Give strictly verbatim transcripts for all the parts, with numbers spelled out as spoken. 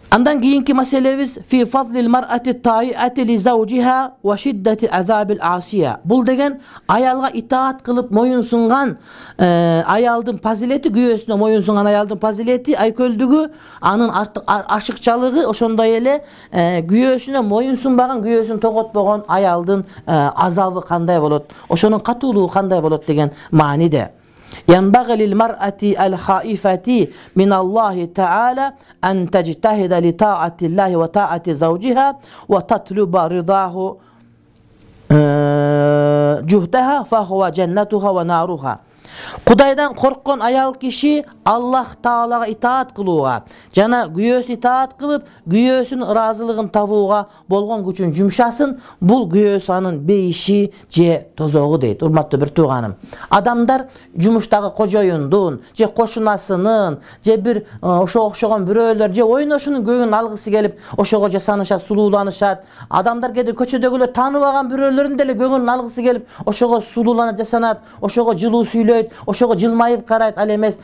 Андан кийинки маселебиз фи фадлил мар'ати таиати ли заужиха ва шиддати азабил асия. Бул деген аялга итаат кылып моюн сунган аялдын фазилети, күйөөсүнө моюн сунган аялдын фазилети, айкөлдүгү, анын ашыкчалыгы, ошондой эле күйөөсүнө моюн сунбаган, күйөөсүн тоготпогон аялдын азабы кандай болот, ошонун катуулугу кандай болот деген мааниде. ينبغي للمرأة الخائفة من الله تعالى أن تجتهد لطاعة الله وطاعة زوجها وتطلب رضاه جهدها فهو جنتها ونارها. Кудайдан корккон аял киши Аллах Таалага итаат кылууга жана күйөөсүн итаат кылып, күйөөсүнүн ыраазылыгын табууга болгон күчүн жумшасын. Бул күйөөсү анын бейиши же тозогу дейт. Урматтуу бир тууганым, адамдар жумуштагы кожоюндун же кошунасынын же бир ошого окшогон бирөөлөр же ойношунун көңүлүн алгысы келип ошого жасанышат, сулууланышат. Адамдар кээде көчөдөгүлөр тааныбаган бирөөлөрүн деле көңүлүн алгысы келип ошого сулууланат, жасанат, ошого жылуу сүйлөйт, ошого жылмайып карайт. Ал эмес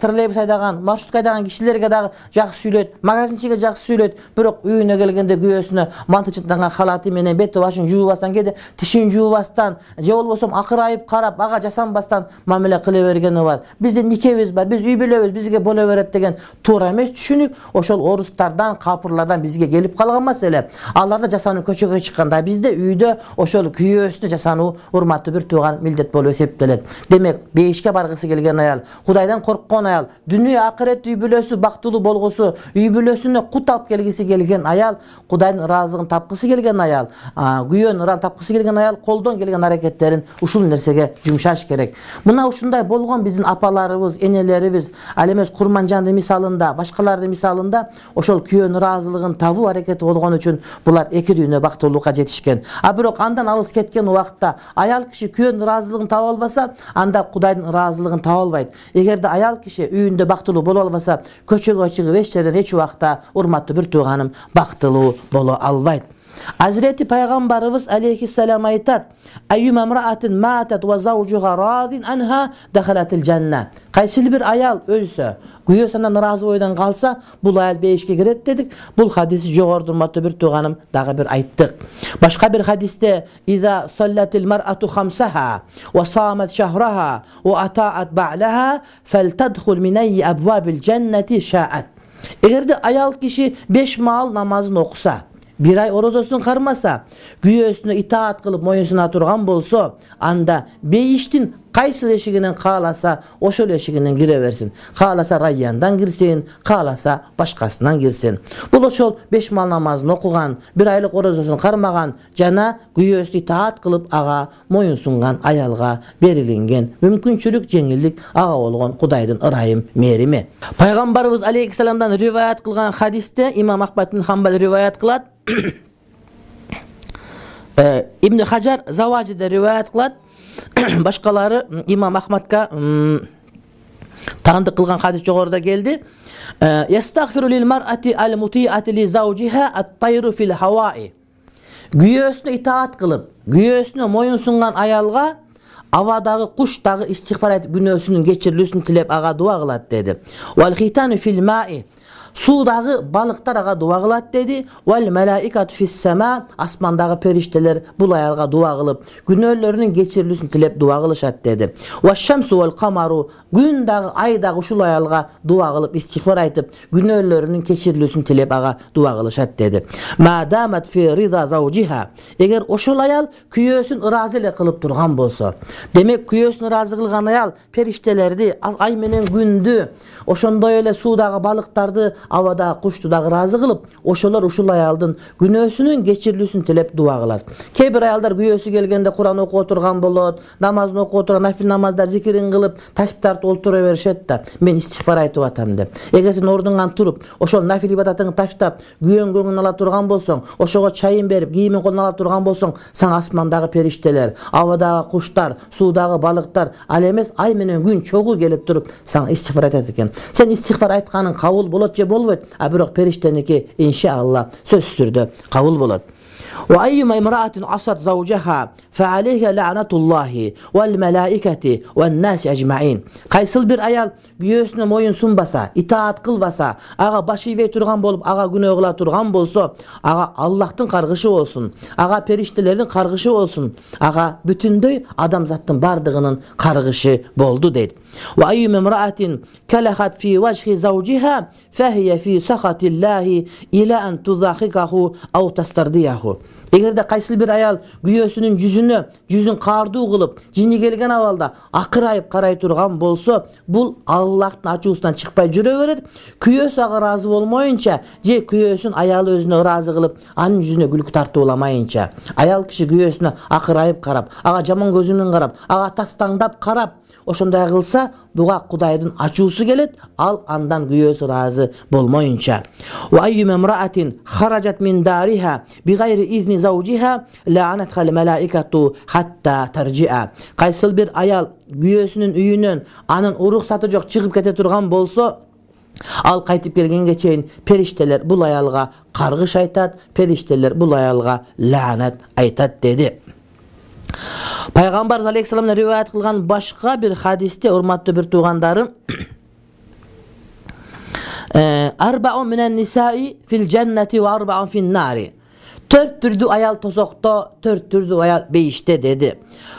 троллейбус айдаган, маршрутка айдаган кишилерге дагы жакшы сүйлөйт, магазинчиге жакшы сүйлөйт. Бирок үйүнө келгенде күйөөсүнө мантычыттанган халаты менен бети башын жуубастан, кээде тишин жуубастан же болбосо акырайып карап, ага жасанбастан мамиле кыла бергени бар. Биздин никебиз бар, биз үй бүлөбүз, бизге боло берет деген туура эмес түшүнүк. Ошол орустардан, капырлардан бизге келип калган маселе. Аларда жасануу көчөгө чыкканда, бизде үйдө ошол күйөөсүнө жасануу урматтуу бир тууган милдет болуп эсептелет. Демек, бейишке баргысы келген аял, Кудайдан корккон аял, дүнүйө акырет үй бүлөсү бактылуу болгусу, үй бүлөсүнө кут алып келгиси келген аял, Кудайдын ыраазылыгын тапкысы келген аял, күйөөнүн ыраазылыгын тапкысы келген аял колдон келген аракеттерин ушул нерсеге жумшаш керек. Мына ушундай болгон биздин апаларыбыз, энелерибиз, ал эмес Курманжандын мисалында, башкалардын мисалында ошол күйөөнүн ыраазылыгын табуу аракети болгон үчүн булар эки дүйнө бактылуулукка жетишкен. А бирок андан алыс кеткен убакта аял киши күйөөнүн ыраазылыгын таба албаса, анда Кудайдын ыраазылыгын таба албайт. Эгерде аял киши үйүндө бактылуу боло албаса, көчөгө чыгып эч жерден эч убакта, урматтуу бир тууганым, бактылуу боло албайт. Азирети пайгамбарыбыз алейхиссалам айтат: "Айюма мраатин матат ва заужуга разин анха дахалатил жанна." Кайсы бир аял өлсө, күйөөсү андан ыраазы бойдон калса, бул аял бейишке кирет дедик. Бул хадисти жогоруда урматтуу бир тууганым дагы бир айттык. Башка бир хадисте: "Иза саллатил мар'ату хамсаха ва самат шахраха ва атаат бa'laha фалтадхул мин айи абвабил жаннати ша'ат." Эгерде аял киши беш маал намазын окуса, бир ай орозосун кармаса, күйөөсүнө итаат кылып моюн суна турган болсо, анда бейиштин кайсы эшигинен кааласа ошол эшигинен кире берсин. Кааласа райяндан кирсин, кааласа башкасынан кирсин. Бул ошол беш маал намазын окуган, бир айлык орозосун кармаган жана күйөөсү итаат кылып ага моюн сунган аялга берилинген мүмкүнчүлүк, жеңилдик, ага болгон Кудайдын ырайым, мээрими. Пайгамбарыбыз алейхиссаламдан риваят кылган хадисте имам Ахмад ибн Хамбал риваят кылат. Ибн Хаджар Заважиде риваят кылат. Башкалары имам Ахмадка таандык кылган хадис жогоруда келди. Ястагфиру лил мар'ати ал мути'ати ли заужиха ат-тайру фил хаваи. Күйөөсүнө итаат кылып, күйөөсүнө моюн сунган аялга авадагы куш дагы истигфар айтып күнөөсүнүн кечирилүүсүн тилеп ага дуа кылат деди. Вал хитану фил ма'i. Суудагы балыктар ага дуа кылат деди. Вал малаикату фис сама. Асмандагы периштелер бул аялга дуа кылып, күнөөлөрүнүн кечирилүүсүн тилеп дуа кылышат деди. Ва шамсу вал камару. Күн дагы, ай дагы ушул аялга дуа кылып, истигфар айтып, күнөөлөрүнүн кечирилүүсүн тилеп ага дуа кылышат деди. Ма дамат фи риза заужиха. Эгер ошол аял күйөөсүн ыраазы эле кылып турган болсо, демек күйөөсүн ыраазы кылган аял периштелерди, ай менен күндү, ошондой эле суудагы балыктарды, абадагы кушту дагы ыраазы кылып, ошолор ушул аялдын күнөөсүнүн кечирилүүсүн тилеп дуа кылат. Кээ бир аялдар күйөөсү келгенде Куран окуп отурган болот, намазын окуп отурган, нафил намаздар зикирин кылып, тасбих тартып олтура беришет да, мен истигфар айтып атам деп. Эгер сен ордуңан туруп, ошол нафил ибадатыңды таштап, күйөнгөңүн ала турган болсоң, ошого чайын берип, кийимин колуна ала турган болсоң, сага асмандагы периштелер, абадагы куштар, суудагы балыктар, ал эмес ай менен күн чогуу келип туруп, сага истигфар айтат экен. Сен истигфар айтканың кабыл болот же болбойт, а бирок периштеники иншалла сөзсүз түрдө кабыл болот. وأيما امرأة عصت زوجها فعليها لعنة الله والملائكة والناس أجمعين. Кайсыл бир аял күйөөсүнө моюн сунбаса, итаат кылбаса, ага баш ийбей турган болуп, ага күнөө кыла турган болсо, ага Аллахтын каргышы болсун, ага периштелердин каргышы болсун, ага бүтүндөй адамзаттын бардыгынын каргышы болду дейт. وأيما امرأة كلخت في وجه زوجها فهي في سخط الله إلى أن تضاحكه أو تسترضيه. Эгерде кайсыл бир аял күйөөсүнүн жүзүнө, жүзүн каардуу кылып, жини келген абалда акырайып карай турган болсо, бул Аллахтын ачуусунан чыкпай жүрө берет. Күйөөсү ага ыраазы болмоюнча, же күйөөсүн аялы өзүнө ыраазы кылып, анын жүзүнө күлкү тартууламайынча, аял киши күйөөсүнө акырайып карап, ага жаман көзү менен карап, ага тастаңдап карап, ошондой кылса, буга Кудайдын ачуусу келет, ал андан күйөөсү ыраазы болмоюнча. Wa ayyuma imra'atin kharajat min dariha bighayri izni zawjiha la'anatha al-mala'ikatu hatta tarji'a. Кайсыл бир аял күйөөсүнүн үйүнөн анын уруксаты жок чыгып кете турган болсо, ал кайтып келгенге чейин периштелер бул аялга каргыш айтат, периштелер бул аялга лаанат айтат деди. Пайгамбар алейхиссалам риваят кылган башка бир хадисте, урматтуу бир туугандарым, арбаун минен нисаи фил джаннати ва арбаун фин нари. Төрт түрдүү аял тозокто, төрт түрдүү аял бейиште деди.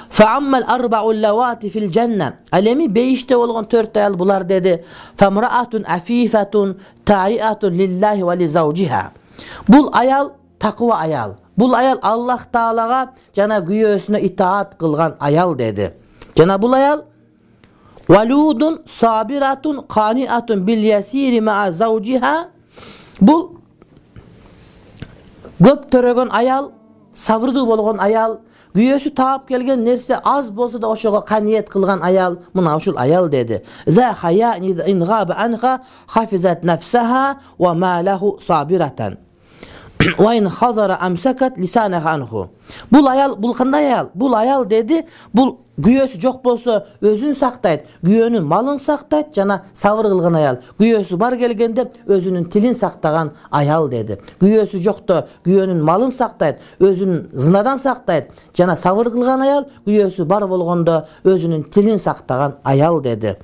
Фааммал арбау лавати фил джанна. Ал эми бейиште болгон төрт аял булар деди. Фамраатун афифатун таиатун лиллахи ва ли заужиха. Бул аял таква аял. Бул аял Аллах Таалага жана күйөөсүнө итаат кылган аял деди. Жана бул аял валудун сабиратун каниатун бил ясири ма заужиха. Бул көп төрөгөн аял, сабырдуу болгон аял, күйөөсү таап келген нерсе аз болсо да ошого каниет кылган аял, мына ушул аял деди. За хая ин габа анха хафизат нафсаха ва малаху сабирatan. Вайн хазара амсакат лисанаха анху. Бул аял, бул кандай аял? Бул аял деди, бул күйөөсү жок болсо өзүн сактайт, күйөөнүн малын сактайт, жана сабыр кылган аял. Күйөөсү бар келгенде өзүнүн тилин сактаган аял деди. Күйөөсү жокто күйөөнүн малын сактайт, өзүн зынадан сактайт, жана сабыр кылган аял. Күйөөсү бар болгондо өзүнүн тилин сактаган аял деди.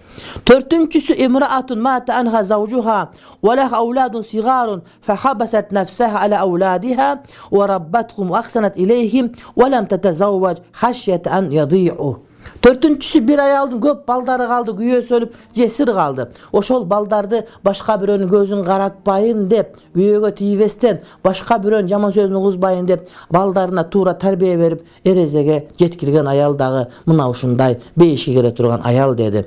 Төртүнчүсү имраатун мата анха заужуха ва лах ауладун сигарун фахабасат нафсаха ала ауладиха ва раббатхум ва ахсанат илейхим ва лам татазавваж хашьята ан яди'у. Төртүнчүсү бир аялдын көп балдары калды, күйөөсү өлүп, жесир калды. Ошол балдарды башка бирөөнүн көзүн каратпайын деп, күйөөгө тийбестен, башка бирөөнүн жаман сөзүн угузбайын деп, балдарына туура тарбия берип, эрезеге жеткирген аял дагы мына ушундай бейишке келе турган аял деди.